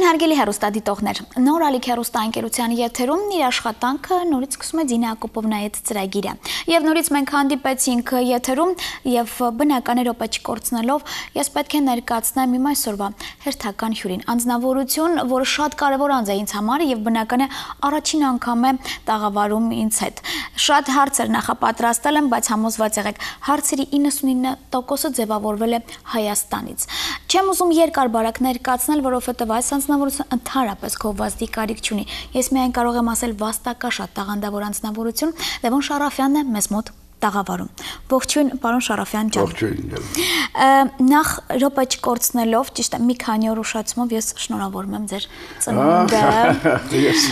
Հարգելի հեռուստադիտողներ, նոր ալիք հեռուստաընկերության եթերում իր աշխատանքը նորից սկսում է Դինա Ակոպովնայի հետ ծրագիրը։ Եվ նորից մենք հանդիպեցինք եթերում եւ բնական րոպե չկորցնելով ես պետք է ներկայացնեմ իմ այսօրվա հերթական հյուրին։ Անձնավորություն, որը շատ կարևոր անձ է ինձ համար եւ բնական է առաջին անգամ է տաղավարում ինձ հետ։ Շատ հարցեր նախապատրաստել եմ, բայց համոզված եղեք, հարցերի 99%-ը ձևավորվել է Հայաստանից։ Չեմ ուզում երկար բարակ ներկայացնել, որովհետև այս անձնավորությունը ընդհանրապես գովազդի կարիք չունի։ Ես միայն կարող եմ ասել վաստակաշատ տաղանդավոր անձնավորություն, Լևոն Շարաֆյանն է մեզ մոտ տաղավարում։ Ողջույն, պարոն Շարաֆյան ջան։ Ողջույն։ Նախ րոպե չկորցնելով, ճիշտ է, մի քանի օր ուշացումով ես շնորհավորում եմ ձեր ծնունդը։ Ես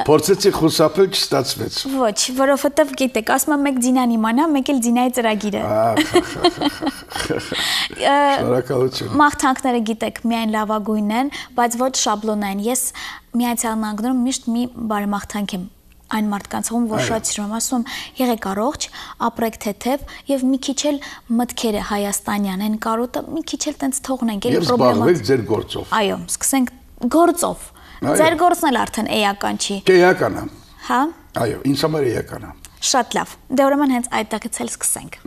փորձեցի խուսափել, չստացվեց։ Ոչ, որովհետև գիտեք, ասում եմ մեկ Դինան իմանա, մեկ էլ Դինայի ծրագիրը։ Շնորհակալություն։ Մաղթանքները գիտեք, միայն լավագույնն են, բայց ոչ շաբլոնային։ Ես Միացյալ Նահանգներում միշտ մի բարեմաղթանք եմ այն մարդկանց ում որ շատ սիրում եմ, ասում եղեք առողջ, ապրեք թեթև եւ մի քիչ էլ մտքերը հայաստանյան են կարոտը, մի քիչ էլ տենց թողնենք, էլի պրոբլեմա։ Եվ զբաղվեք ձեր գործով։ Այո, սկսենք գործով։ Ձեր գործն էլ արդեն էական չի։ Էական է։ Հա։ Այո, ինձ համար էական է։ Շատ լավ։ Դե ուրեմն հենց այդտեղից էլ սկսենք։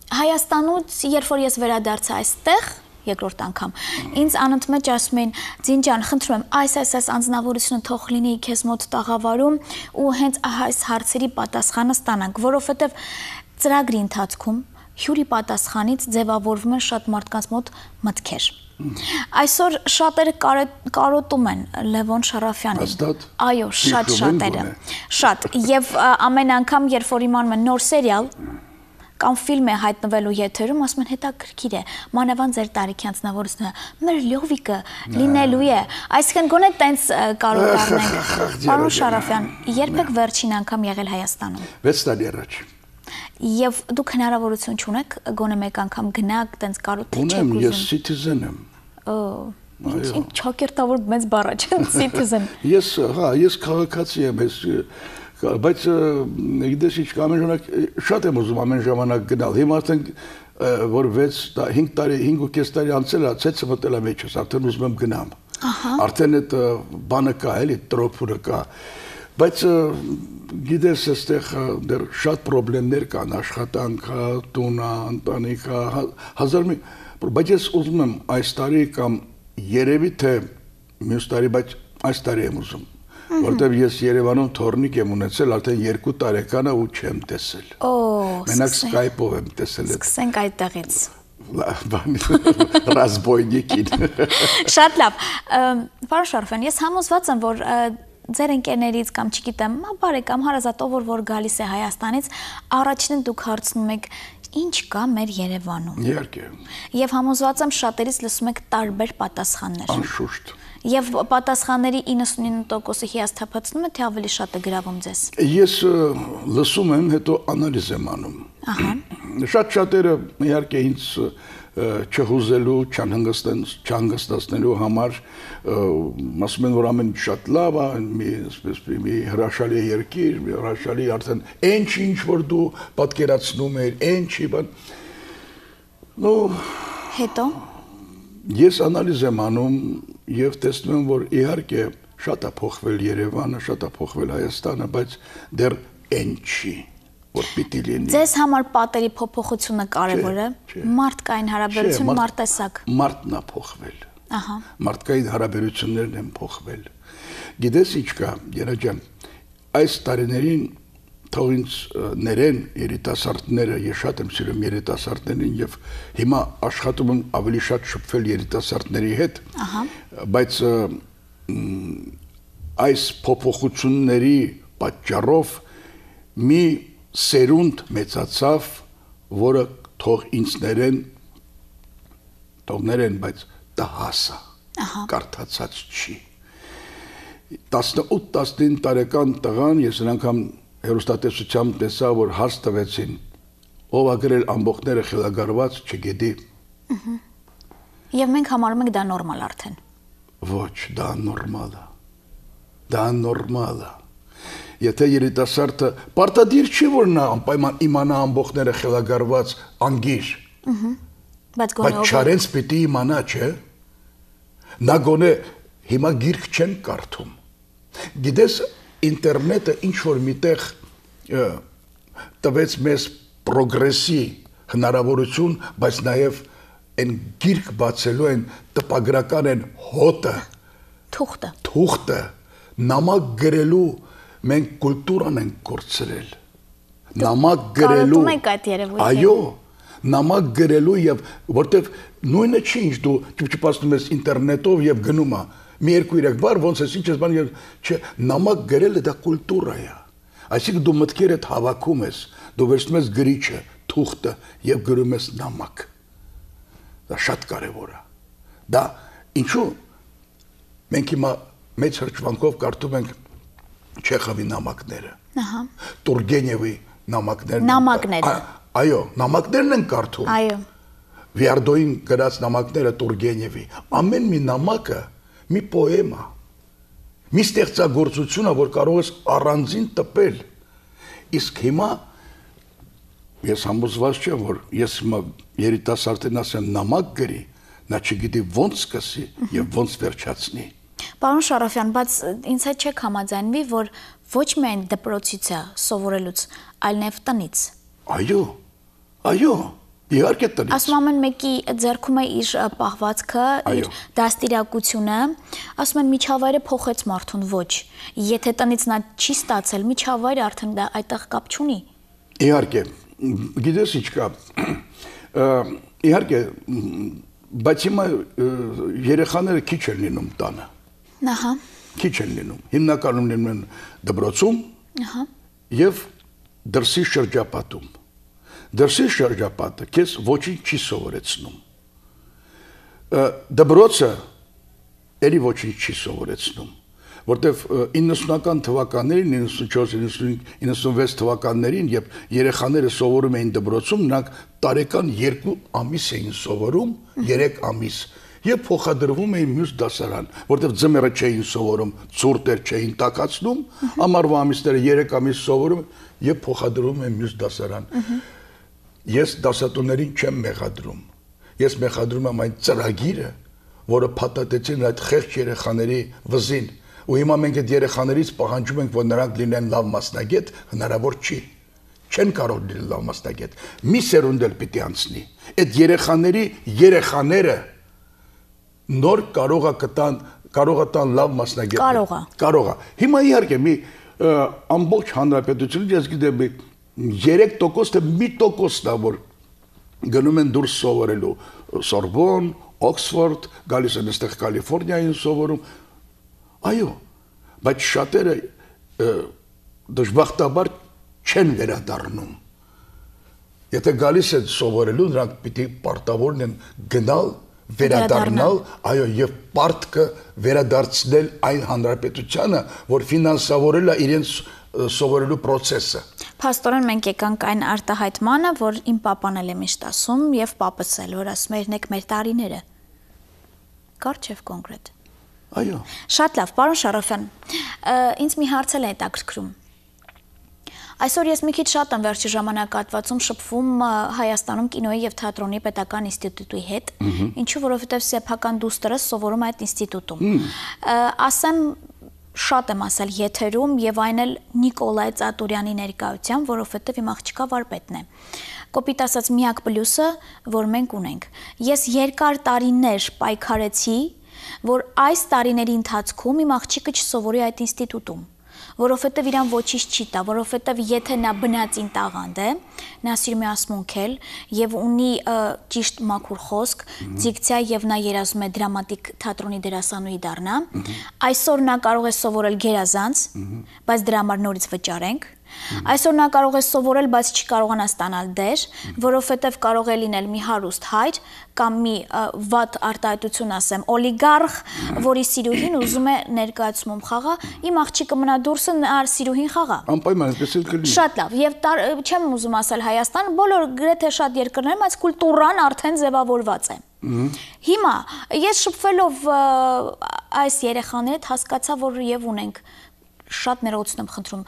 Հայաստանուց, երբ որ ես վերադարձա այստեղ, երկրորդ անգամ, ինձ անընդմեջ ասում էին, Ձին ջան, խնդրում եմ, այս անձնավորությունը թող լինի քեզ մոտ տաղավարում ու հենց այս հարցերի պատասխանը ստանանք, որովհետև ծրագրի ընթացքում հյուրի պատասխանից ձևավորվում են շատ մարդկանց մոտ մտքեր։ Այսօր շատերը կարոտում են Լևոն Շարաֆյանին։ Հաստատ։ Այո, շատ շատերը։ Շատ։ Եվ ամեն անգամ, երբ որ իմանում են նոր սերիալ կամ ֆիլմ է հայտնվելու եթերում, ասում են հետաքրքիր է, մանավանդ ձեր տարիքի անձնավորությունը, մեր Լյովիկը լինելու է, այսինքն գոնե տենց կարող առնենք։ Պարոն Շարաֆյան, երբեք վերջին անգամ եղել Հայաստանում։ 6 տարի առաջ։ Եվ դուք հնարավորություն չունեք գոնե մեկ անգամ գնաք, տենց կարոտ չեք ուզում։ Ունեմ, ես citizen եմ։ Ինչ ճակերտավոր մեծ բառ է, citizen։ Ես քաղաքացի եմ, բայց գիտես ինչ ամեն ժամանակ շատ եմ ուզում ամեն ժամանակ գնալ։ Հիմա արդեն որ 5 տարի անցել է, ցեցը մտել է մեջս, արդեն ուզում եմ գնամ։ Արդեն այդ բանը կա, էլի տրոփուրը կա։ Բայց գիտես այստեղ դեռ շատ խնդիրներ կան, աշխատանքը, տունը, ընտանիքը, բայց ես ուզում եմ այս տարի կամ երևի թե մյուս տարի, բայց այս տարի եմ ուզում։ Որտեւ ես Երևանում թորնիկ եմ ունեցել, արդեն 2 տարեկան է ու չեմ տեսել։ Մենակ Skype-ով եմ տեսել։ Սկսենք այդտեղից։ Ռազմոյնիկին։ Շատ լավ։ Պարոն Շարաֆյան, ես համոզված եմ, որ ձեր ընկերներից կամ չգիտեմ, բարեկամ հարազատ ով որ գալիս է Հայաստանից, առաջինը դուք հարցնում եք ինչ կա մեր Երևանում։ Իհարկե։ Եվ համոզված եմ շատերից լսում եք տարբեր պատասխաններ։ Անշուշտ։ Եվ պատասխանների 99%-ը հիասթափեցնում է, թե ավելի շատ է գրավում ձեզ։ Ես լսում եմ, հետո անալիզ եմ անում։ Շատերը իհարկե ինձ չհուզելու, չհանգստացնելու համար ասում են, որ ամեն շատ լավ է, մի հրաշալի երկիր, մի հրաշալի արդեն ինչ որ դու պատկերացնում ես, բան։ Հետո ես անալիզ եմ անում եւ տեսնում եմ, որ իհարկե շատ է փոխվել Երևանը, շատ է փոխվել Հայաստանը, բայց դեռ չի, որ պիտի լինի։ Ձեզ համար պատերի փոփոխությունը կարևոր է, մարդկային հարաբերություն, մարդտեսակ։ Մարդն է փոխվել։ Մարդկային հարաբերություններն են փոխվել։ Գիտես ինչ կա, Երաջան, այս տարիներին թող ինձ ներեն երիտասարդները, ես շատ եմ սիրում երիտասարդներին եւ հիմա աշխատում եմ ավելի շատ շփվել երիտասարդների հետ, բայց այս փոփոխությունների պատճառով մի սերունդ մեծացավ, որը թող ինձ ներեն, բայց տհասա, կարդացած չի։ 18-19 տարեկան տղան, ես անգամ հեռուստատեսությամբ տեսա, որ հարց տվեցին, ով ա գրել ամբողջները խելագարված, չգիտի։ Եվ մենք համարում ենք դա նորմալ արդեն։ Ոչ, դա նորմալ է։ Դա նորմալ է։ Եթե երիտասարդը պարտադիր չի, որ նա անպայման իմանա ամբողջները խելագարված անգիր։ Բայց չարենց պիտի իմանա, չէ։ Նա գոնե հիմա գիրք չեն կարդում։ Գիտես, ինտերնետը ինչ որ միտեղ տվեց մեզ պրոգրեսի հնարավորություն, բայց նաև այն գիրք բացելու են տպագրական են հոտը, թուղթը, նամակ գրելու մենք կուլտուրան ենք կորցրել։ Նամակ գրելու, այո, նամակ գրելու եւ որտեվ նույնը չի ինչ դու ճպճպացնում ես ինտերնետով եւ գնում ես մի երկու երեք բար ոնց ես ինչ ես բան չէ նամակ գրելը դա կուլտուրա է այսինքն դու մտքերդ հավաքում ես դու վերցնում ես գրիչը թուղթը եւ գրում ես նամակ դա շատ կարեւոր է դա ինչու մենք հիմա մեծ հրճվանքով կարդում ենք Չեխովի նամակները ահա Տուրգենևի նամակները այո նամակներն են կարդում այո Վիարդոյին գրած նամակները Տուրգենևի ամեն մի նամակը մի պոեմա մի ստեղծագործություն է որ կարող ես առանձին տպել իսկ հիմա ես համոզված չեմ որ ես հիմա երիտասարդին ասեմ նամակ գրի նա չգիտի ոնց սկսի եւ ոնց վերջացնի Պարոն Շարաֆյան, բայց ինձ հետ չեք համաձայնվի, որ ոչ միայն դպրոցից է սովորելուց, այլ նաև տնից։ Այո, իհարկե տնից։ Ասում ամեն մեկի ձեռքում է իր պահվածքը, իր դաստիարակությունը, ասում են միջավայրը փոխեց մարդուն ոչ։ Եթե տնից նա չի ստացել, միջավայրը արդեն դա այդտեղ կապ չունի։ Իհարկե, գիտես ինչ կա։ Իհարկե, բայց հիմա երեխաները քիչ են լինում տանը։ Ահա։ Քիչ են լինում։ Հիմնականում լինում են դպրոցում եւ դրսի շրջապատում։ Դրսի շրջապատը քեզ ոչինչ չի սովորեցնում։ Դպրոցը ելի ոչինչ չի սովորեցնում, որտեվ 90-ական թվականներին, 94, 95, 96 թվականներին, երբ երեխաները սովորում էին դպրոցում, նրանք տարեկան 2 ամիս էին սովորում, 3 ամիս Եվ փոխադրվում էին մյուս դասարան, որտեղ ձմեռը չէին սովորում, ցուրտեր չէին տակացնում, ամառվա ամիսները 3 ամիս սովորում եւ փոխադրվում էին մյուս դասարան։ Ես դասատուներին չեմ մեղադրում։ Ես մեղադրում եմ այն ծրագիրը, որը փաթաթեցին այդ խեղճ երեխաների վզին։ Ու հիմա մենք այդ երեխաներից պահանջում ենք, որ նրանք լինեն լավ մասնագետ, հնարավոր չի։ Չեն կարող լինել լավ մասնագետ։ Մի սերունդ էլ պիտի անցնի։ Այդ երեխաները նոր կարող է տան լավ մասնագետ։ Կարող է։ Հիմա իհարկե մի ամբողջ հանրապետությունից ես գիտեմ 3% թե 1%-ն է որ գնում են դուրս սովորելու Սորբոն, Օքսֆորդ, գալիս են այստեղ Կալիֆոռնիային սովորում։ Այո, բայց շատերը դժբախտաբար չեն վերադառնում։ Եթե գալիս են սովորելու, նրանք պիտի պարտավոր են գնալ վերադառնալ, այո, եւ պարտքը վերադարձնել այն հանրապետությանը, որ ֆինանսավորել է իրենց սովորելու process-ը։ Փաստորեն մենք եկանք այն արտահայտմանը, որ իմ պապան էլ է միշտ ասում եւ պապս էլ, որ ասում է «Եկեք մեր տարիները»։ Կարճ եւ կոնկրետ։ Այո։ Շատ լավ, պարոն Շարաֆյան, ինձ մի հարց էլ է հետաքրքրում։ Այսօր ես մի քիչ շատ եմ վերջի ժամանակահատվածում շփվում Հայաստանում կինոյի եւ թատրոնի պետական ինստիտուտի հետ, ինչու որովհետեւ սեփական դուստրս սովորում է այդ ինստիտուտում։ Ասեմ շատ եմ ասել եթերում եւ այն էլ Նիկոլայ Ծատուրյանի ներկայությամբ, որովհետեւ իմ աղջիկա վարպետն է։ Կոպիտ ասած միակ պլյուսը, որ մենք ունենք։ Ես երկար տարիներ պայքարեցի, որ այս տարիների ընթացքում իմ աղջիկը չսովորի այդ ինստիտուտում։ Որովհետև իրան ոչինչ չի տա, որովհետև եթե նա բնածին տաղանդ է, նա սիրում է ասմունքել եւ ունի ճիշտ մաքուր խոսք, դիկցիա եւ նա երազում է դրամատիկ թատրոնի դերասանուհի դառնա, այսօր նա կարող է սովորել գերազանց, բայց դրա համար նորից վճարենք։ Այսօր նա կարող է սովորել, բայց չի կարողանա ստանալ դեր, որովհետև կարող է լինել մի հարուստ հայր կամ մի վատ արտահայտություն ասեմ, օլիգարխ, որի սիրուհին ուզում է ներկայացում խաղա, իմ աղջիկը մնա դուրսը նա սիրուհին խաղա։ Անպայման այսպես էլ կլինի։ Շատ լավ, եւ չեմ ուզում ասել Հայաստան, բոլոր գրեթե շատ երկրներում այս կուլտուրան արդեն ձևավորված է։ Հիմա ես շփվելով այս երեխաների հետ հասկացա, որ եւ ունենք շատ ներողություն եմ խնդրում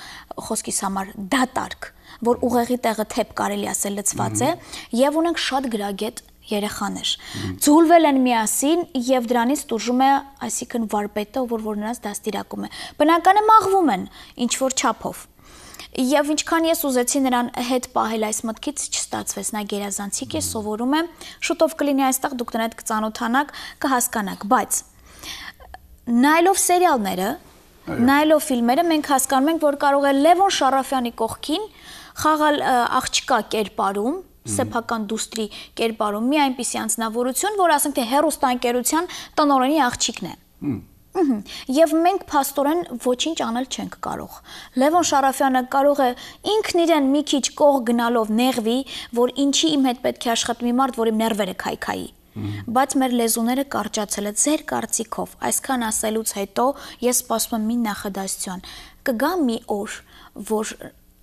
խոսքիս համար դատարկ, որ ուղեղի տեղը թեփ կարելի ասել լցված է, եւ ունենք շատ գրագետ երեխաներ։ Ձուլվել են միասին եւ դրանից տուժում է, այսինքն վարպետը, որ նրանց դաստիարակում է։ Բնական է մաղվում են ինչ որ չափով։ Եվ ինչքան ես ուզեցի նրան հետ պահել այս մտքից չստացվեց, նա գերազանցիկ է, սովորում է, շուտով կլինի այստեղ, դուք նրան կծանոթանաք, կհասկանաք, բայց նայելով սերիալները, նայելով ֆիլմերը, մենք հասկանում ենք, որ կարող է Լևոն Շարաֆյանի կողքին խաղալ աղջկա կերպարում, սեփական դուստրի կերպարում մի այնպիսի անձնավորություն, որ ասենք թե հեռուստաընկերության տնօրենի աղջիկն է։ Եվ մենք փաստորեն ոչինչ անել չենք կարող։ Լևոն Շարաֆյանը կարող է ինքն իրեն մի քիչ կող գնալով նեղվի, որ ինչի իմ հետ պետք է աշխատի մի մարդ, որ իմ ներվերը քայքայի։ Բայց մեր լեզուները կարճացել է ձեր կարծիքով։ Այսքան ասելուց հետո ես սպասում եմ մի նախադասություն։ Կգա մի օր, որ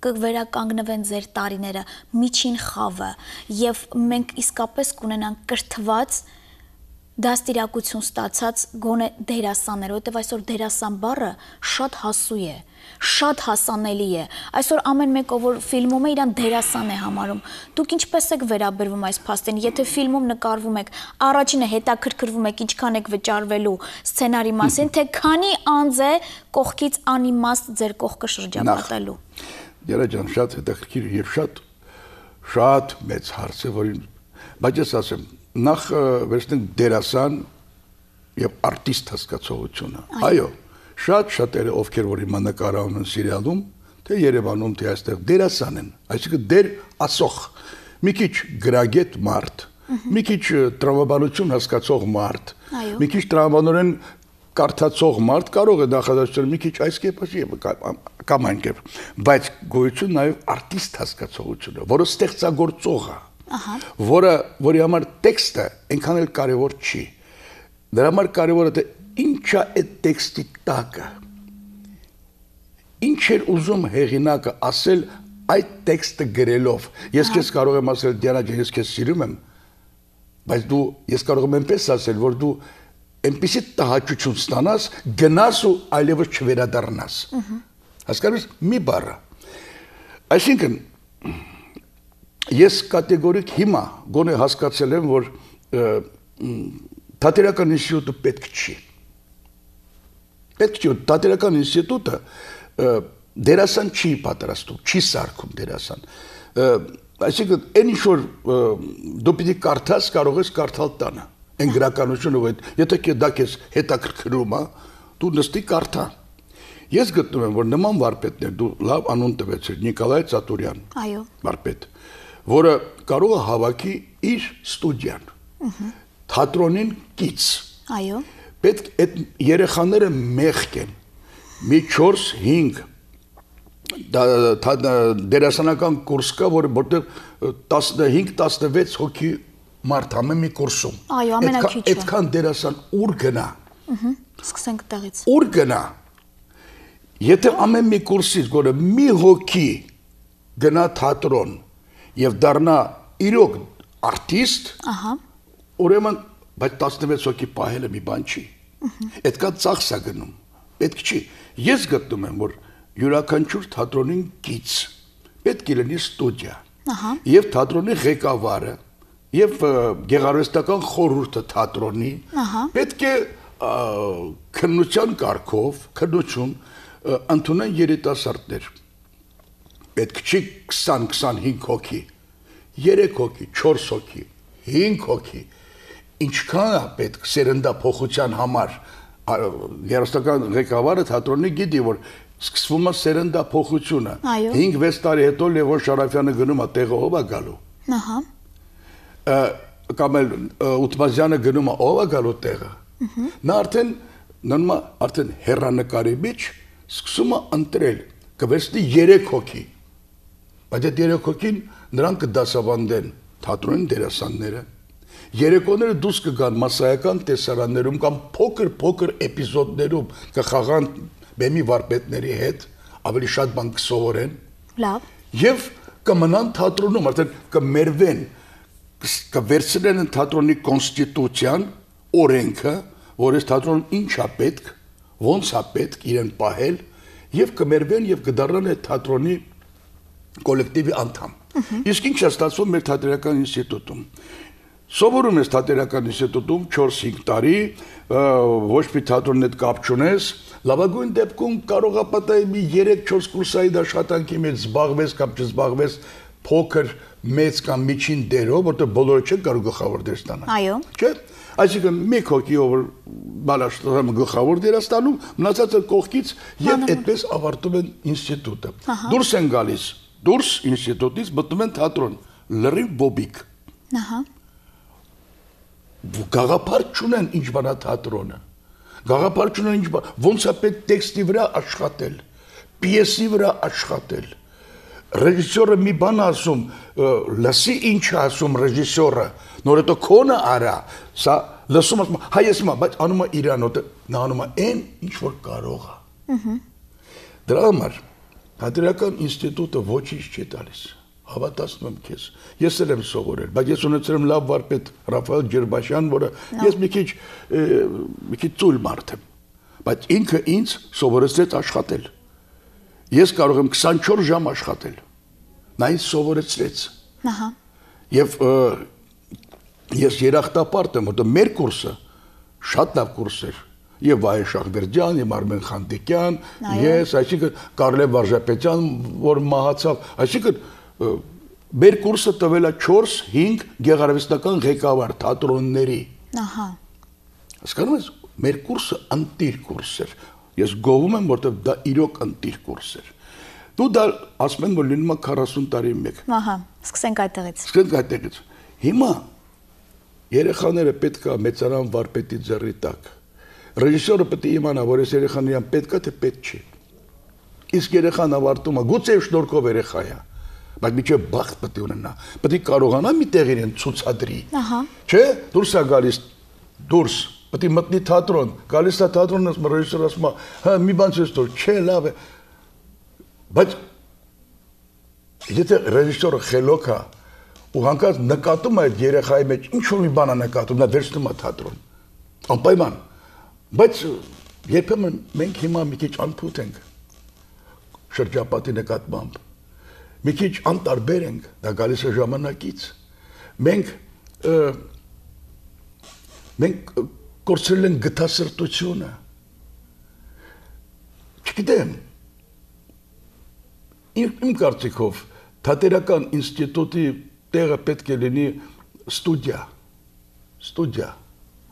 կվերականգնվեն ձեր տարիները, միջին խավը, եւ մենք իսկապես կունենանք կրթված դաստիարակություն ստացած գոնե դերասաններ, որովհետև այսօր դերասան բառը շատ հասու է, շատ հասանելի է։ Այսօր ամեն մեկը, որ ֆիլմում է, իրան դերասան է համարում։ Դուք ինչպես եք վերաբերվում այս փաստին, եթե ֆիլմում նկարվում եք, առաջինը հետաքրքրվում եք, ինչքան եք վճարվելու սցենարի մասին, թե քանի անձ է կողքից անիմաստ ձեր կողքը շրջապատելու։ Երա ջան, շատ հետաքրքիր եւ շատ մեծ հարց է, որին բայց ես ասեմ, նախ վերցնենք դերասան եւ արտիստ հասկացողությունը։ Այո, շատ շատերը ովքեր որ հիմա նկարահանում են սերիալում, թե Երևանում, թե այստեղ դերասան են, այսինքն դեր ասող, մի քիչ գրագետ մարդ, մի քիչ տրամաբանություն հասկացող մարդ, մի քիչ տրամաբանորեն կարդացող մարդ կարող է նախադասել մի քիչ այս կերպի կամ այն կերպ, բայց գոյություն նաև արտիստ հասկացողությունը, որը ստեղծագործող է, որի համար տեքստը այնքան էլ կարևոր չի։ Դրա համար կարևորը թե ինչա է տեքստի տակը, ինչ էր ուզում հեղինակը ասել այդ տեքստը գրելով։ Ես քեզ կարող եմ ասել Դիանա ջան, ես քեզ սիրում եմ, բայց ես կարող եմ այնպես ասել, որ դու այնպիսի տհաճություն ստանաս, գնաս ու այլևս չվերադառնաս։ Հասկանում ես մի բառը։ Այսինքն ես կատեգորիկ հիմա գոնե հասկացել եմ, որ թատերական ինստիտուտը պետք չի։ Պետք չի, թատերական ինստիտուտը դերասան չի պատրաստում, չի սարքում դերասան։ Այսինքն այն ինչ որ դու պիտի կարդաս, կարող ես կարդալ տանը։ Այն գրականությունը, եթե դա քեզ հետաքրքրում է, դու նստի կարդա։ Ես գտնում եմ, որ նման վարպետներ, դու լավ անուն տվեցիր, Նիկոլայ Ծատուրյան, վարպետ, որը կարող է հավաքի իր ստուդիան, թատրոնին կից։ Պետք այդ երեխաները մեղք են, մի 4-5 դերասանական կուրս կա, որտեղ 15-16 հոգի մարդ ամեն մի կուրսում։ Այո, ամենակիչը։ Այդքան դերասան ուր գնա։ Սկսենք տեղից։ Ուր գնա։ Եթե ամեն մի կուրսից գոնե մի հոգի գնա թատրոն եւ դառնա իրոք արտիստ, ուրեմն բայց 16 հոգի պահելը մի բան չի։ Այդքան ծախս է գնում։ Պետք չի։ Ես գտնում եմ, որ յուրաքանչյուր թատրոնին գից պետք է լինի ստուդիա։ Եվ թատրոնի ղեկավարը եւ գեղարվեստական խորհուրդը թատրոնի պետք է քննության կարգով, քննություն ընդունեն երիտասարդներ։ Պետք չի 20-25 հոգի, 3 հոգի, 4 հոգի, 5 հոգի։ Ինչքան է պետք սերնդափոխության համար գեղարվեստական ղեկավարը թատրոնի գիտի, որ սկսվում է սերնդափոխությունը։ 5-6 տարի հետո Լևոն Շարաֆյանը գնում է տեղը ով է գալու։ Կամ էլ Ուտմազյանը գնում է ով է գալու տեղը։ Նա արդեն հեռանկարի մեջ սկսում է ընտրել, կվերցնի 3 հոգի։ Բայց այդ 3 հոգին նրանք կդասավանդեն թատրոնի դերասանները։ Երեկոները դուրս կգան մասսայական տեսարաններում կամ փոքր էպիզոդներում կխաղան բեմի վարպետների հետ, ավելի շատ բան կսովորեն։ Լավ։ Եվ կմնան թատրոնում, արդեն կմերվեն, կվերցնեն թատրոնի կոնստիտուցիան, օրենքը, որ այս թատրոնում ինչ է պետք, ոնց է պետք իրեն պահել, եւ կմերվեն եւ կդառնան այդ թատրոնի կոլեկտիվի անդամ։ Իսկ ինչ է ստացվում մեր թատերական ինստիտուտում։ Սովորում ես թատերական ինստիտուտում 4-5 տարի, ոչ մի թատրոնի հետ կապ չունես, լավագույն դեպքում կարող է պատահի մի 3-4 կուրսային աշխատանքի մեջ զբաղվես կամ չզբաղվես փոքր, մեծ կամ միջին դերով, որտեղ բոլորը չեն կարող գլխավոր դեր ստանալ։ Այո։ Չէ՞։ Այսինքն մի հոգիով բալաշտարը գլխավոր դեր ստանում, մնացածը կողքից եւ այդպես ավարտում են ինստիտուտը։ Դուրս են գալիս, դուրս ինստիտուտից մտնում են թատրոն, լրիվ բոբիկ։ Ահա։ Գաղափար չունեն ինչ բանա թատրոնը։ Գաղափար չունեն ինչ բան, ոնց է պետք տեքստի վրա աշխատել, պիեսի վրա աշխատել։ Ռեժիսորը մի բան ասում, լսի ինչ ասում ռեժիսորը, նոր հետո քոնը արա, սա լսում ասում, հայ ես հիմա, բայց անում է իրանոտ, նա անում է այն, ինչ որ կարող է։ Դրա համար թատերական ինստիտուտը ոչինչ չի տալիս, հավատացնում եմ քեզ, ես էլ եմ սովորել, բայց ես ունեցել եմ լավ վարպետ Ռաֆայել Ջերբաշյան, որը ես մի քիչ ծույլ մարդ եմ, բայց ինքը ինձ սովորեցրեց աշխատել։ Ես կարող եմ 24 ժամ աշխատել, նա ինձ սովորեցրեց։ Եվ ես երախտապարտ եմ, որտեղ մեր կուրսը շատ լավ կուրս էր, եւ Վահե Շահվերդյան, եւ Արմեն Խանդիկյան, ես, այսինքն Կարլև Վարժապետյան, որ մահացավ, այսինքն մեր կուրսը տվել է 4-5 գեղարվեստական ղեկավար թատրոնների։ Հասկանում ես, մեր կուրսը ընտիր կուրս էր։ Ես գովում եմ, որտեղ դա իրոք ընտիր կուրս էր։ Դու դա ասում են, որ լինում է 40 տարի մեկ։ Ահա, սկսենք այդտեղից։ Սկսենք այդտեղից։ Հիմա երեխաները պետք է մեծարան վարպետի ձեռի տակ։ Ռեժիսորը պետք է իմանա, որ այս երեխան իրան պետք է, թե պետք չի։ Իսկ երեխան ավարտում է, գուցե շնորհքով երեխա է, բայց միջև բախտ պետք է ունենա։ Պետք է կարողանա մի տեղ իրեն ցուցադրի։ Չէ՞, դուրս է գալիս, դուրս Պետք է մտնի թատրոն, գալիս է թատրոնը, ռեժիսորը ասում է, հա, մի բան չես տոր, չէ, լավ է։ Բայց եթե ռեժիսորը խելոք է, ու հանկարծ նկատում է այդ երեխայի մեջ, ինչ-որ մի բան է նկատում, նա վերցնում է թատրոն, անպայման։ Բայց երբեմն մենք հիմա մի քիչ անփութ ենք շրջապատի նկատմամբ, մի քիչ անտարբեր ենք, դա գալիս է ժամանակից։ Մենք կորցրել են գթասրտությունը։ Չգիտեմ, իմ կարծիքով թատերական ինստիտուտի տեղը պետք է լինի ստուդիա։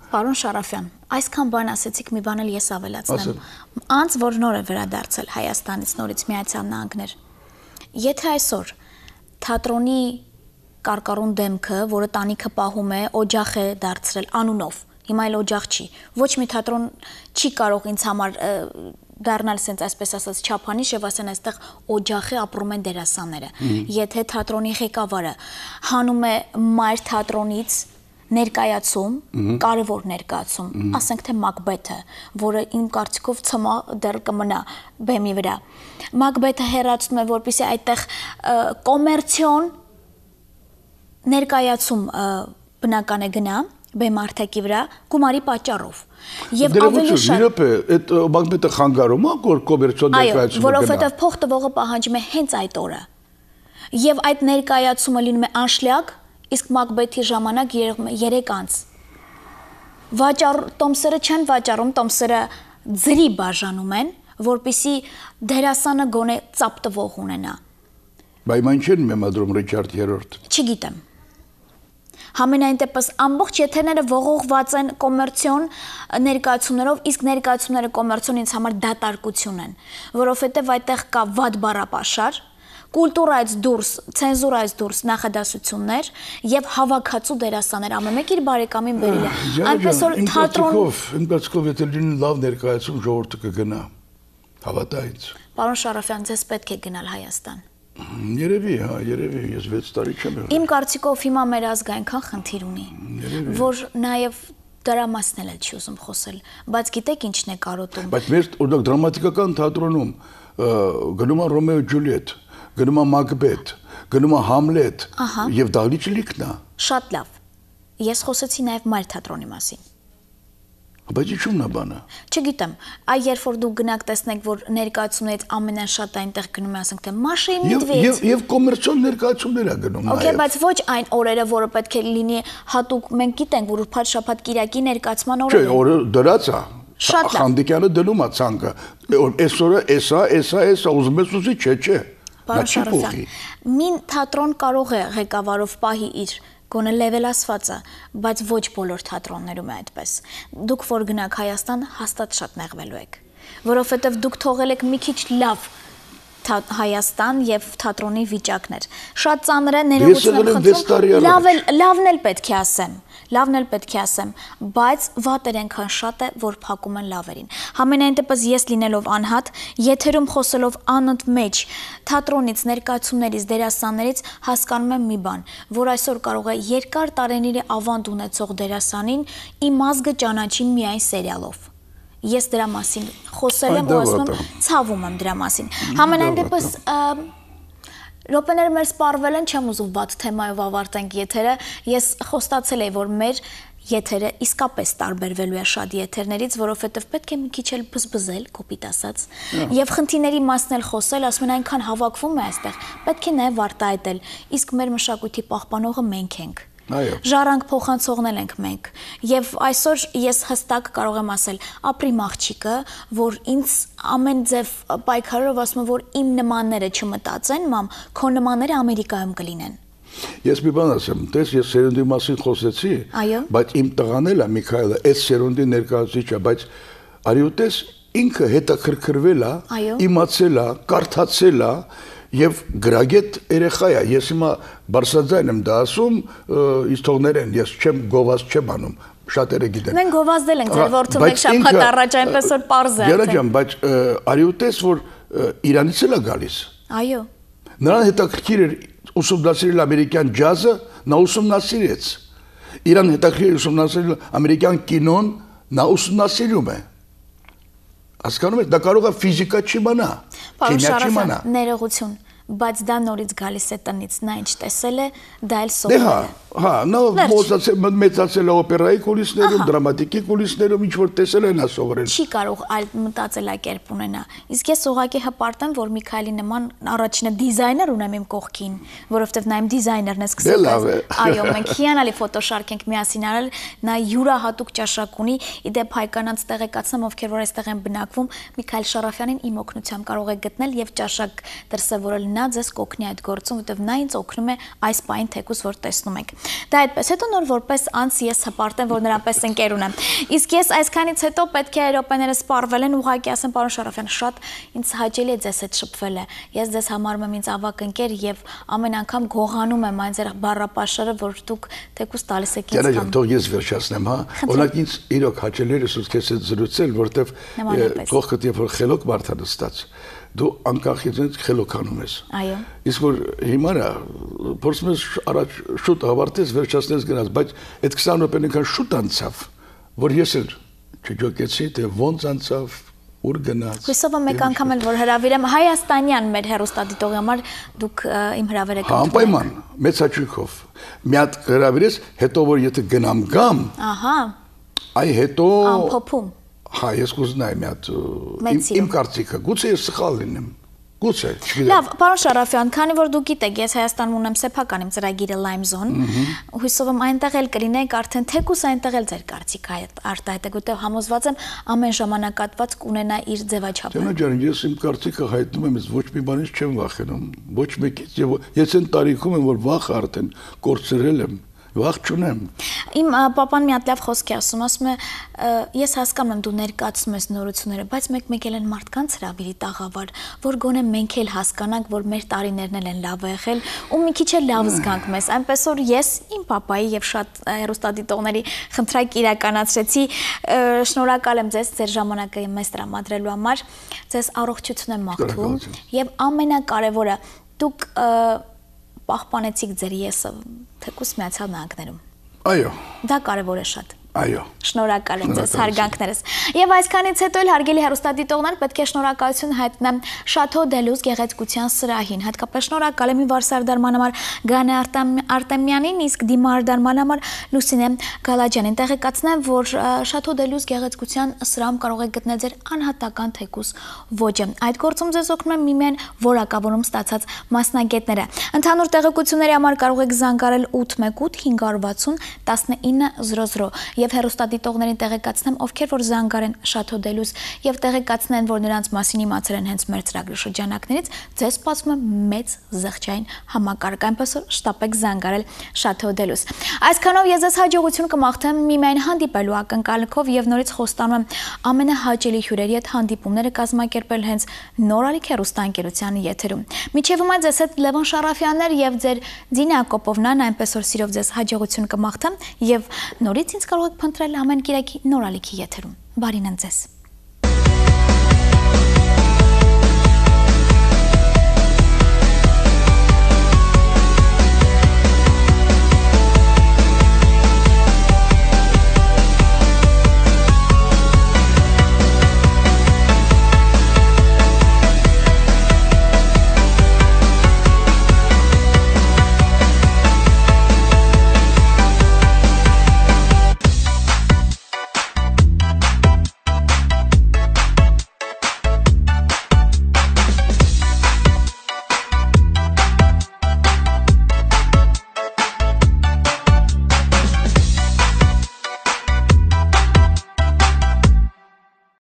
Պարոն Շարաֆյան, այսքան բան ասեցիք, մի բան էլ ես ավելացնեմ։ Անց որ նոր է վերադարձել Հայաստանից, նորից Միացյալ Նահանգներ։ Եթե այսօր թատրոնի կարկառուն դեմքը, որը տանիքը պահում է, օջախ է դարձրել անունով, հիմա էլ օջախ չի, ոչ մի թատրոն չի կարող ինձ համար դառնալ սենց այսպես ասած չափանիշ եւ ասեն այստեղ օջախի ապրում են դերասանները։ Եթե թատրոնի ղեկավարը հանում է մայր թատրոնից ներկայացում, կարևոր ներկայացում, ասենք թե Մակբեթը, որը իմ կարծիքով ցմա դեռ կմնա բեմի վրա։ Մակբեթը հերացնում է, որպեսզի այդտեղ կոմերցիոն ներկայացում բնական է գնա բեմարդակի վրա գումարի պատճառով։ Եվ ավելի շատ այդ Մակբեթը խանգարում է կոմերցիոն ներկայացումը գնա։ Որովհետև փող տվողը պահանջում է հենց այդ օրը։ Եվ այդ ներկայացումը լինում է անշլյակ, իսկ Մակբեթի ժամանակ 3 անց։ Տոմսերը չեն վաճառում, տոմսերը ձրի բաժանում են, որպեսզի դերասանը գոնե ծափ տվող ունենա։ Բայց այն չեն մեմադրում Ռիչարդ III։ Չգիտեմ։ Համենայն դեպս ամբողջ եթերները ողողված են կոմերցիոն ներկայացումներով, իսկ ներկայացումները կոմերցիոն ինձ համար դատարկություն են, որովհետև այդտեղ կա վատ բառապաշար, կուլտուրայից դուրս, ցենզուրայից դուրս նախադասություններ եւ հավաքածու դերասաններ, ամեն մեկ իր բարեկամին բերել է։ Այնպես որ թատրոն իմ կարծիքով եթե լինի լավ ներկայացում ժողովուրդը կգնա։ Հավատա ինձ։ Պարոն Շարաֆյան, ձեզ պետք է գնալ Հայաստան։ Երևի, հա, երևի, ես 6 տարի չեմ եղել։ Իմ կարծիքով հիմա մեր ազգը այնքան խնդիր ունի, որ նաեւ դրա մասն էլ չի ուզում խոսել, բայց գիտեք ինչն է կարոտում։ Բայց մեր օրինակ դրամատիկական թատրոնում գնում է Ռոմեո Ջուլիետ, գնում է Մակբեթ, գնում է Համլետ, եւ Դաղլիճ լիքն է։ Շատ լավ։ Ես խոսեցի նաեւ մայր թատրոնի մասին։ Բայց ինչու՞մն է բանը։ Չգիտեմ, այ երբ որ դուք գնաք տեսնեք, որ ներկայացումներից ամենաշատը այնտեղ գնում է, ասենք թե Մաշայի Մեդվեդ։ Եվ կոմերցիոն ներկայացումներ է գնում նաև։ Okay, բայց ոչ այն օրերը, որը պետք է լինի հատուկ, մենք գիտենք, որ ուրբաթ շաբաթ կիրակի ներկայացման օրերը։ Չէ, օրը դրած է։ Շատ լավ։ Խանդիկյանը դնում է ցանկը։ Այսօրը էսա, ուզում ես ուզի, չէ։ Պարոն Շարոֆյան, մին թատրոն կարող է ղեկավարով պահի իր գոնե լևելացվածը, բայց ոչ բոլոր թատրոններում է այդպես։ Դուք որ գնաք Հայաստան, հաստատ շատ նեղվելու եք, որովհետև դուք թողել եք մի քիչ լավ Հայաստան եւ թատրոնի վիճակներ։ Շատ ծանր է, ներողություն եմ խնդրում, լավն էլ պետք է ասեմ, բայց վատեր այնքան շատ է, որ փակում են լավերին։ Համենայն դեպս ես լինելով անհատ, եթերում խոսելով անընդմեջ թատրոնից, ներկայացումներից, դերասաններից հասկանում եմ մի բան, որ այսօր կարող է երկար տարիների ավանդ ունեցող դերասանին իմ ազգը ճանաչի միայն սերիալով։ Ես դրա մասին խոսել եմ ու ասում եմ, ցավում եմ դրա մասին։ Համենայն դեպս րոպեները մեր սպառվել են, չեմ ուզում վատ թեմայով ավարտենք եթերը։ Ես խոստացել էի, որ մեր եթերը իսկապես տարբերվելու է շատ եթերներից, որովհետև պետք է մի քիչ էլ բզբզել, կոպիտ ասած, եւ խնդիրների մասն էլ խոսել, ասում են այնքան հավաքվում է այստեղ, պետք է նաեւ արտահայտել, իսկ մեր մշակույթի պահպանողը մենք ենք։ Ժառանգ փոխանցողնել ենք մենք եւ այսօր ես հստակ կարող եմ ասել ապրիմ աղջիկը, որ ինձ ամեն ձև պայքարով ասում է, որ իմ նմանները չմտածեն, մամ, քո նմանները Ամերիկայում կլինեն։ Ես մի բան ասեմ, տես ես սերունդի մասին խոսեցի, բայց իմ տղան էլ է Միքայելը, այդ սերունդի ներկայացուցիչ է, բայց արի ու տես ինքը հետաքրքրվել է, իմացել է, կարդացել է Եվ գրագետ երեխա է, ես հիմա բարձրաձայն եմ դա ասում, իսկ թողներեն, ես չեմ գովազ չեմ անում, շատերը գիտեն։ Մենք գովազդել ենք ձեր որդու մեկ շաբաթ առաջ, այնպես որ պարզ է։ Գերա ջան, բայց արի ու տես, որ Իրանից էլ է գալիս։ Այո։ Նրան հետաքրքիր էր ուսումնասիրել ամերիկյան ջազը, նա ուսումնասիրեց։ Իրան հետաքրքիր ուսումնասիրել ամերիկյան կինոն, նա ուսումնասիրում է։ Հասկանում եք, դա կարող է ֆիզիկա չիմանա, քիմիա չիմանա։ Ներողություն, բայց դա նորից գալիս է տնից, նա ինչ տեսել է, դա էլ սովորել է։ Հա, նա մեծացել է օպերայի կուլիսներում, դրամատիկի կուլիսներում, ինչ որ տեսել է նա սովորել։ Չի կարող այլ մտածելակերպ ունենա։ Իսկ ես ուղղակի հպարտեմ, որ Միքայելի նման առաջինը դիզայներ ունեմ իմ կողքին, որովհետև նա իմ դիզայներն է սկսել։ Այո, մենք հիանալի ֆոտոշարք ենք միասին արել, նա յուրահատուկ ճաշակ ունի, իդեպ հայկանանց տեղեկացնեմ, ովքեր որ այստեղ են բնակվում, Միքայել Շարաֆյանին իմ օգնությամբ կարող եք գտնել եւ ճաշակ դրսևորել նա ձեզ կօգնի այդ գործում, որովհետև նա ինձ օգնում է այս պահին թեկուզ որ տեսնում եք։ Դա այդպես, հետո նոր որպես անց ես հպարտեմ, որ նրանպես ընկեր ունեմ։ Իսկ ես այսքանից հետո պետք է րոպեները սպառվել են, ուղղակի ասեմ, պարոն Շարաֆյան, շատ ինձ հաճելի է ձեզ հետ շփվելը։ Ես ձեզ համարում եմ ինձ ավագ ընկեր եւ ամեն անգամ գողանում եմ այն ձեր բառապաշարը, որ դուք թեկուզ տալիս եք ինձ։ Գերեջան, թող ես վերջացնեմ, հա։ Օրինակ ինձ իրոք հաճելի էր ուսուց քեզ հետ զրուցել, որտեվ կողքդ երբ որ խելոք մարդ է նստած, դու անկախից խելոքանում ես։ Այո։ Իսկ որ հիմա փորձում ես առաջ շուտ ավարտես, վերջացնես գնաս, բայց այդ 20 րոպեն այնքան շուտ անցավ, որ ես էլ չջոկեցի, թե ոնց անցավ, ուր գնաց։ Հույսով եմ մեկ անգամ էլ որ հրավիրեմ Հայաստանյան մեր հեռուստադիտողի համար, դուք իմ հրավերը կընդունեք։ Անպայման, մեծ հաճույքով։ Մի հատ հրավիրես, հետո որ եթե գնամ գամ, ահա, այ հետո ամփոփում։ Հա, ես կուզենայի մի հատ իմ կարծիքը, գուցե ես սխալ լինեմ, գուցե, չգիտեմ։ Լավ, պարոն Շարաֆյան, քանի որ դուք գիտեք, ես Հայաստանում ունեմ սեփական իմ ծրագիրը Lime Zone, հույսով եմ այնտեղ էլ կլինեք, արդեն թեկուս այնտեղ էլ ձեր կարծիքը արտահայտեք, որտեղ համոզված եմ ամեն ժամանակատված կունենա իր ձևաչափը։ Ջան, ջան, ես իմ կարծիքը հայտնում եմ, ես ոչ մի բանից չեմ վախենում, ոչ մեկից, եւ ես այն տարիքում եմ, որ վախ արդեն կորցրել եմ։ Վախ չունեմ։ Իմ պապան մի հատ լավ խոսք է ասում է, ես հասկանում եմ դու ներկայացնում ես նորությունները, բայց մեկ-մեկ էլ են մարդկանց հրավիրի տաղավար, որ գոնե մենք էլ հասկանանք, որ մեր տարիներն են լավ եղել ու մի քիչ էլ լավ զգանք մեզ, այնպես որ ես իմ պապայի եւ շատ հեռուստադիտողների խնդրակ իրականացրեցի, շնորհակալ եմ ձեզ ձեր ժամանակը մեզ տրամադրելու համար, ձեզ առողջություն եմ մաղթում եւ ամենակարևորը դուք պահպանեցիք ձեր եսը թեկուս Միացյալ Նահանգներում։ Այո։ Դա կարևոր է շատ։ Այո։ Շնորհակալ եմ ձեզ հարգանքներս։ Եվ այսքանից հետո էլ հարգելի հեռուստադիտողներ պետք է շնորհակալություն հայտնեմ Շաթո Դելուզ գեղեցկության սրահին։ Հատկապես շնորհակալ եմ վարսարդարման համար Գանե Արտեմյանին, իսկ դիմարդարման համար Լուսինե Գալաջյանին։ Տեղեկացնեմ, որ Շաթո Դելուզ գեղեցկության սրահում կարող եք գտնել ձեր անհատական թեկուս ոճը։ Այդ գործում ձեզ օգնում են միմեն որակավորում ստացած մասնագետները։ Ընդհանուր տեղեկությունների համար կարող եք զանգարել 818 560 1900 եւ հեռուստադիտողներին տեղեկացնեմ, ովքեր որ զանգարեն Շաթո Դելուզ եւ տեղեկացնեն, որ նրանց մասին իմացել են հենց մեր ծրագրի շրջանակներից, ձեզ սպասում է մեծ զղջային համակարգ, այնպես որ շտապեք զանգարել Շաթո Դելուզ։ Այսքանով ես ձեզ հաջողություն կմաղթեմ միմեն հանդիպելու ակնկալիքով եւ նորից խոստանում եմ ամենահաճելի հյուրերի հետ հանդիպումները կազմակերպել հենց Նորալիք հեռուստաընկերության եթերում։ Մինչեւ հիմա ձեզ հետ Լևոն Շարաֆյանն էր եւ ձեր Դինա Կոպովնան, այնպես որ սիրով ձեզ հաջողություն կմաղթեմ եւ նորից ինձ կարող եք փնտրել ամեն կիրակի Նորալիքի եթերում։ Բարին ընդ ձեզ։